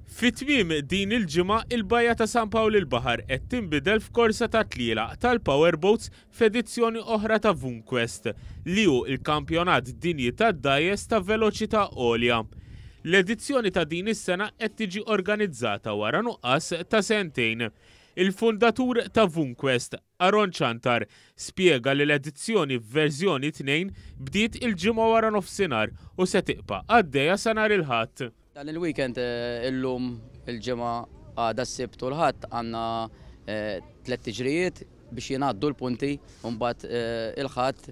Fi tmiem din il-ġimgħa, il-Bajja ta' San Pawl il-Baħar qed tinbidel f'korsa ta' tlielaq tal-powerboats f'edizzjoni oħra ta' VunQuest, li hu l-kampjonat dinji tad-dgħajjes ta' veloċità għolja. L-edizzjoni ta' din is-sena qed tiġi organizzata wara nuqqas ta' sentejn. Il-fundatur ta' VunQuest, Aaron Ciantar, spjega li l-edizzjoni f'verżjoni 2 bdiet il-Ġimgħa waranofsinhar u se tiqpa' għaddejja sa nhar il-Ħadd. Dan il-weekend illum il-Ġimgħa, għada s-Sibt u l-Ħadd għandna tliet tiġrijiet biex jingħaddu l-punti u mbagħad il-Ħadd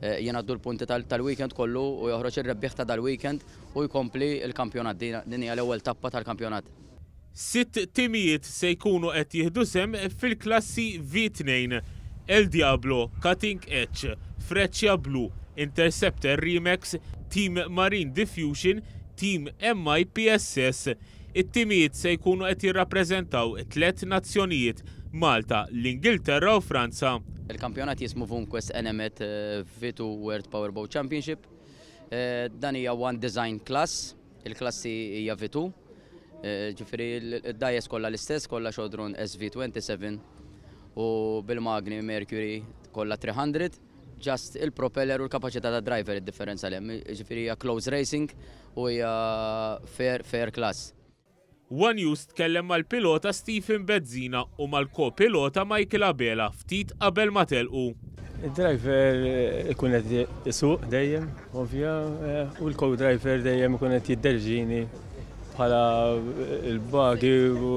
jingħaddu l-punti tal-weekend kollu u joħroġ ir-rebbieħ ta' dal-weekend u jkompli l-kampjonat. Din hija l-ewwel tappa tal-kampjonat. Sitt timijiet se jkunu qed jieħdu sehem fil-klassi V2, El Diablo, Cutting Edge, Freccia Blu, Interceptor Remax, Team Marine Diffusion, Team MIPSS. It-timijiet se jkunu qed jirrappreżentaw tliet nazzjonijiet, Malta, l-Ingilterra u Franza. Il-kampjonat jismu VunQuest Enemed V2 World Powerboat Championship. Dan hija one design class. Il-klassi hija V2, ġifieri d-dgħajjes kollha l-istess, kollha Chaudron SV27 u bil-magni Mercury kollha 300, just il-propeller u l-kapaċità tad-driver id-differenza li hemm, ġifieri hija close racing u hija fair, fair class. One News tkellem mal-pilota Stephen Bezzina u mal-ko-pilota Michael Abela ftit qabel ma telqu. Id-driver ikun qed isuq dejjem, ovvja, u l-co-driver dejjem ikun qed jidderġini bħala l-bagi u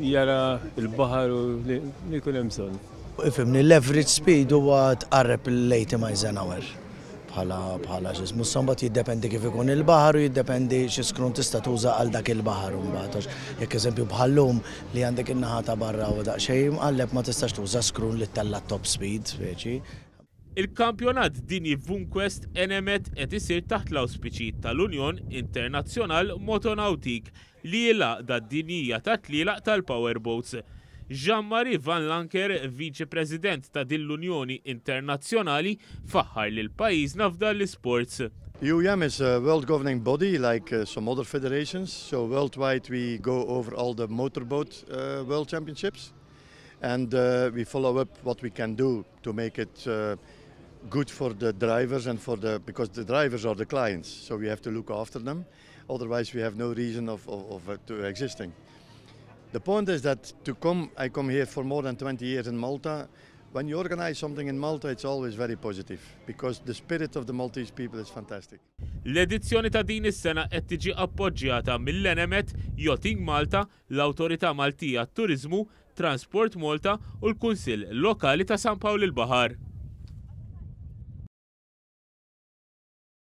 jara l-baħar u li jkun hemm bżonn. Ifhimni, l-average speed huwa tqarreb l-80 miles an hour. Bħala bħala x'ismu issa mbagħad jiddependi kif ikun il-baħar u jiddependi xi skrun tista' tuża għal dak il-baħar imbagħad għax jekk eżempju bħal-lum li għandek in-naħa ta' barra u daqsxejn imqalleb ma tistax tuża skrun li ttella' top speed speċi. Il-Kampjonat Dinji Vunquest Enemed qed isir taħt l-awspiċi tal-Union International Motonautique li hi l-għaqda dinjija tat-tlielaq tal-powerboats. Jean-Marie Van Lancker, Viċi President ta' din l-Unjoni Internazzjonali, faħħar lil pajjiżna f'dan l-isports. UIM is a world governing body like some other federations, so worldwide we go over all the motorboat world championships and we follow up what we can do to make it good for the drivers and for the because the drivers are the clients, so we have to look after them. Otherwise we have no reason of, of, of uh, to existing. The point is that to come, I come here for more than 20 years in Malta. When you organize something in Malta, it's always very positive because the spirit of the Maltese people is fantastic. L-edizzjoni ta' din is-sena qed tiġi appoġġjata mill-Enemed, Yachting Malta, l-Awtorità Maltija għat-Turiżmu, Transport Malta u l-Kunsill Lokali ta' San Pawl il-Baħar.